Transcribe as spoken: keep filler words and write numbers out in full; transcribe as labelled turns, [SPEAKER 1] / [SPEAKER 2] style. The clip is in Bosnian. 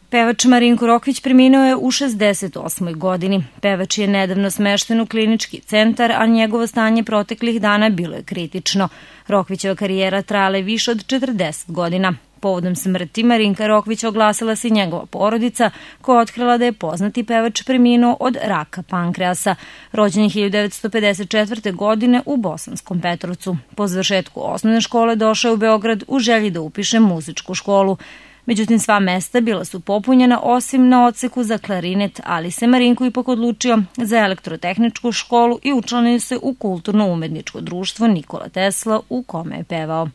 [SPEAKER 1] Pevač Marinko Rokvić preminuo je u šezdeset osmoj godini. Pevač je nedavno smešten u klinički centar, a njegovo stanje proteklih dana bilo je kritično. Rokvićeva karijera trajala je više od četrdeset godina. Povodom smrti Marinka Rokvića oglasila se i njegova porodica, koja je otkrila da je poznati pevač preminuo od raka pankreasa. Rođen je hiljadu devetsto pedeset četvrte. godine u Bosanskom Petrovcu. Po završetku osnovne škole došao je u Beograd u želji da upiše muzičku školu. Međutim, sva mesta bila su popunjena osim na odseku za klarinet, ali se Marinko ipak odlučio za elektrotehničku školu i učlanio se u kulturno-umetničko društvo Nikola Tesla, u kome je pevao.